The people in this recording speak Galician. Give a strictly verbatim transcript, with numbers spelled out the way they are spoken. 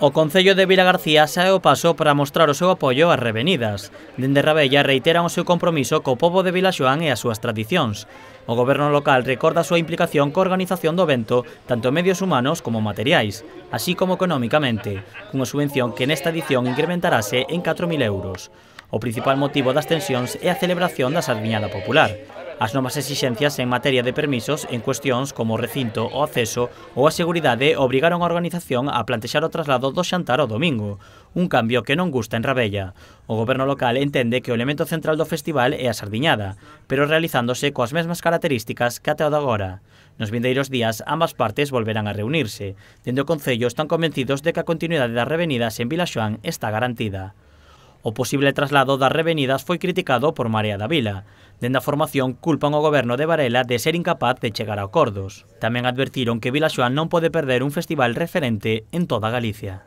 O Concello de Vilagarcía sae ao paso para mostrar o seu apoio ás revenidas. Dende Rabella reiteran o seu compromiso co pobo de Vilaxoán e as súas tradicións. O goberno local recorda a súa implicación coa organización do evento, tanto en medios humanos como materiais, así como economicamente, cunha subvención que nesta edición incrementarase en catro mil euros. O principal motivo das tensións é a celebración da Sardiñada Popular. As novas exixencias en materia de permisos en cuestións como o recinto, o acceso ou a seguridade obrigaron a organización a plantexar o traslado do xantar ao domingo, un cambio que non gusta en Rabella. O goberno local entende que o elemento central do festival é a sardiñada, pero realizándose coas mesmas características que até o de agora. Nos vindeiros días, ambas partes volverán a reunirse. Dende o Concello están convencidos de que a continuidade das revenidas en Vilaxoán está garantida. O posible traslado das revenidas foi criticado por Marea da Vila. Dende a formación culpan o goberno de Varela de ser incapaz de chegar a acordos. Tamén advertiron que Vilaxoán non pode perder un festival referente en toda Galicia.